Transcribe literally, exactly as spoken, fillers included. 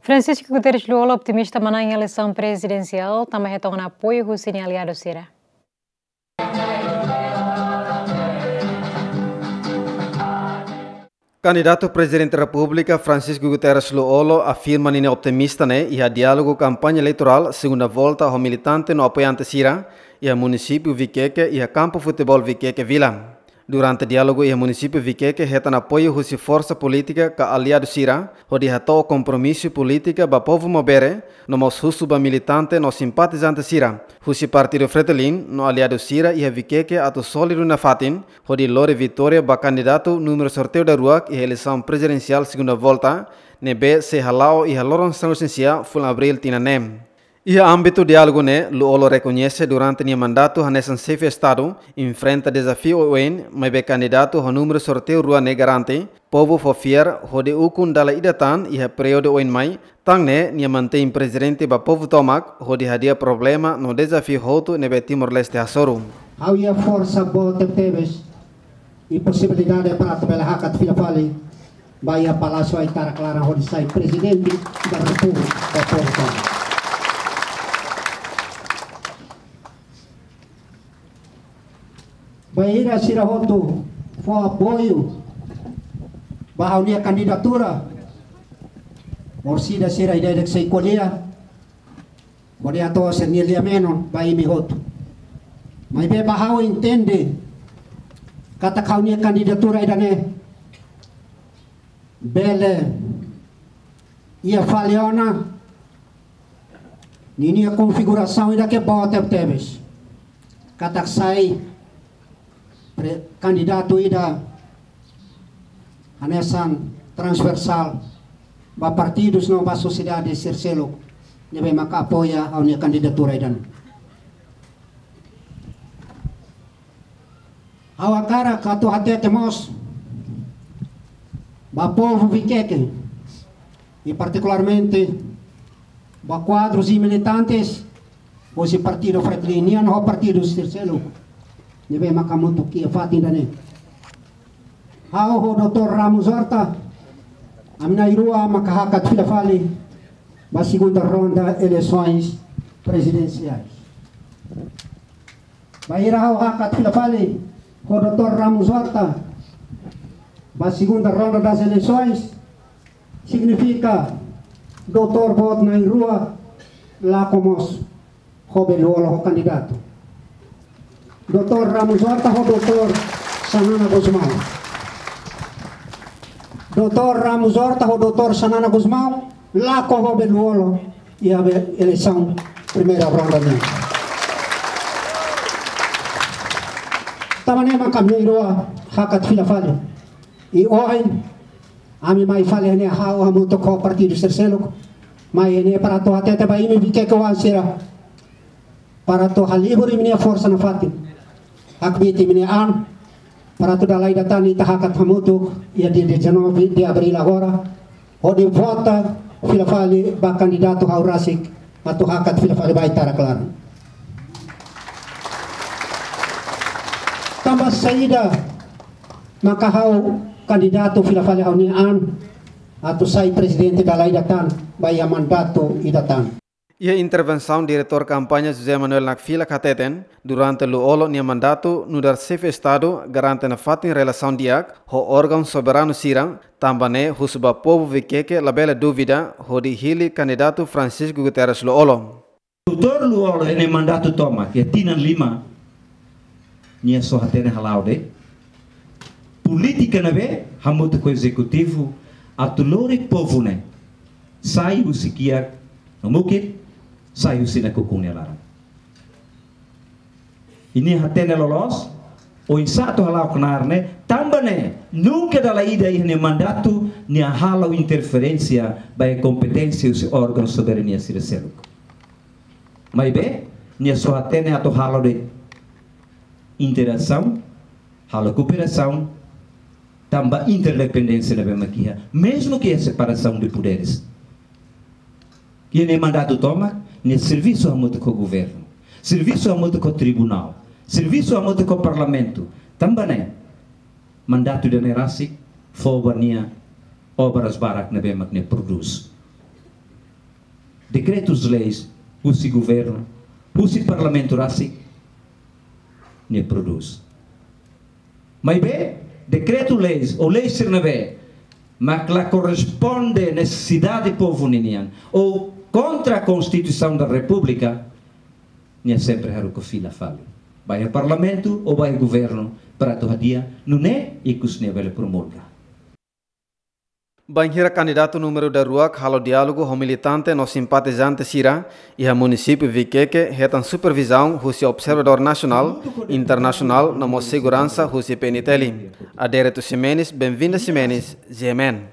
Francisco Guterres Lú-Olo optimista manán iha eleisaun prezidensiál, tanba hetan ona apoiu husi nia aliadu sira. Kandidatu Prezidente Repúblika Francisco Guterres Lú-Olo afirma ninia optimista ne'e iha diálogu kampaña eleitorál segunda volta ho militante no apoiante sira iha munisípiu Viqueque iha kampu futeból Viqueque Vila. Durante diálogu iha munisípiu Viqueque hetan apoiu husi forsa polítika ka aliadu sira, hodi hato'o kompromisu polítika ba povu Maubere, no mós husu ba militante no simpatizante sira husi partidu Fretilin no aliadu sira iha Viqueque atu sólidu nafatin, hodi lori vitória ba kandidatu númeru sorteiu daruak iha eleisaun prezidensiál segunda volta, ne'ebé sei hala'o iha loron sanulu-resin-sia fulan Abríl tinan ne'e. Iha ámbitu diálogu ne'e, Lú-Olo rekoñese durante nia mandatu hanesan Xefe Estadu enfrenta dezafiu oioin, maibé kandidatu ho númeru sorteiu rua ne'e garante povu fó fiar hodi ukun dala ida tan iha períodu oin-mai, tan ne'e nia mantein prezente ba povu tomak hodi hadi'a problema no dezafiu hotu ne'ebé Timor-Leste hasoru. Ha'u iha forsa boot tebetebes i posibilidade para atu bele hakat fila fali ba iha Palásiu Aitarak Laran hodi sai Prezidente da Repúblika ba povu tomak. Bainhira sira hotu fó apoiu ba ha'u-nia kandidatura, orsida sira ida-idak sei ko'alia, hodi hato'o sira-nia lia-menon ba imi hotu. Maibé ba ha'u entende katak ha'u-nia kandidatura ida-ne'e bele iha fali ona ninia konfigurasaun ida ke boot tebetebes. Katak sai pre-, kandidatu ida hanesan transversál ba partidus no ba sosiedade sira seluk ne'ebé maka apoia ha'u-nia kandidatura ida-ne'e. Ha'u hakarak atu hatete mós ba povu Viqueque, i partikularmente ba kuadrus i militantes husi Partidu Fretilin nian ho partidu sira seluk ne'ebé maka hamutuk iha fatin ida-ne'e. Ha'u ho doutór Ramos Horta, ami na'in-rua maka hakat fila fali ba segunda ronda eleisoens prezidensiais. Bainhira ha'u hakat fila fali ho doutór Ramos Horta ba segunda ronda das eleições, signifika doutór boot na'in-rua lakon mós ho Lú-Olo ho kandidatu. Doutór Ramos Horta ho doutór Xanana Gusmão. Doutór Ramos Horta ho doutór Xanana Gusmão lakon ho Lú-Olo iha eleisaun primeira ronda nian. Tanba ne'e maka ami na'in-rua hakat fila fali. I ohin ami mai fali iha ne'e, ha'u hamutuk ho partidu sira seluk mai iha ne'e para atu hatete ba imi Viqueque oan sira, para atu halibur imi-nia forsa nafatin, hakbiit imi-nia an, para atu dala ida tan ita hakat hamutuk iha dia dezanove de abril agora, hodi vota fila fali ba kandidatu ha'u rasik atu hakat fila fali ba Aitarak Laran. Tanba saida maka ha'u kandidatu fila fali ha'u-nia an atu sai prezidente dala ida tan ba iha mandatu ida tan? Iha intervensaun, diretór kampaña José Manuel Nakfilak hateten, durante Lú-Olo nia mandatu nu'udar Xefe Estadu garante nafatin relasaun di'ak ho órgaun soberanu sira, tanba ne'e husu ba povu Viqueque labele dúvida hodi hili kandidatu Francisco Guterres Lú-Olo. Doutór Lú-Olo iha nia mandatu tomak iha tinan lima, nia só hatene hala'o de'it polítika ne'ebé hamutuk ho ezekutivu atu lori povu ne'e sai husi kiak no mukit, sai husi nakukun nia laran. I nia hatene loloos oinsá atu hala'o knaar ne'e, tanba ne'e nunka dala ida iha nia mandatu nia halo interferénsia ba iha kompeténsia husi órgaun soberania sira seluk. Maibé nia só hatene atu halo de'it interasaun, halo kooperasaun, tanba interdependénsia ne'ebé mak iha, mezmu ke separasaun de poderes. Iha nia mandatu tomak, nia servisu hamutuk ho governu, servisu hamutuk ho tribunál, servisu hamutuk ho parlamentu, tanba ne'e mandatu ida-ne'e rasik fó ba nia obras barak ne'ebé mak nia prodús. Dekretus-leis husi governu, husi parlamentu rasik, nia prodús. Maibé dekretu-leis ou lei sira ne'ebé mak la korresponde nesesidade povu ninian ou kontra Konstituisaun da Repúblika, nia sempre haruka fila fali ba iha parlamentu ou ba iha governu para atu hadi'a nune'e ikus nia bele promulga. Bainhira kandidatu númeru daruak halo diálogu ho militante no simpatizante sira iha munisípiu Viqueque, hetan supervizaun husi observadór nasionál, internasionál no mós seguransa husi P N T L. Adérito Ximenes, Benvinda Ximenes, G M N.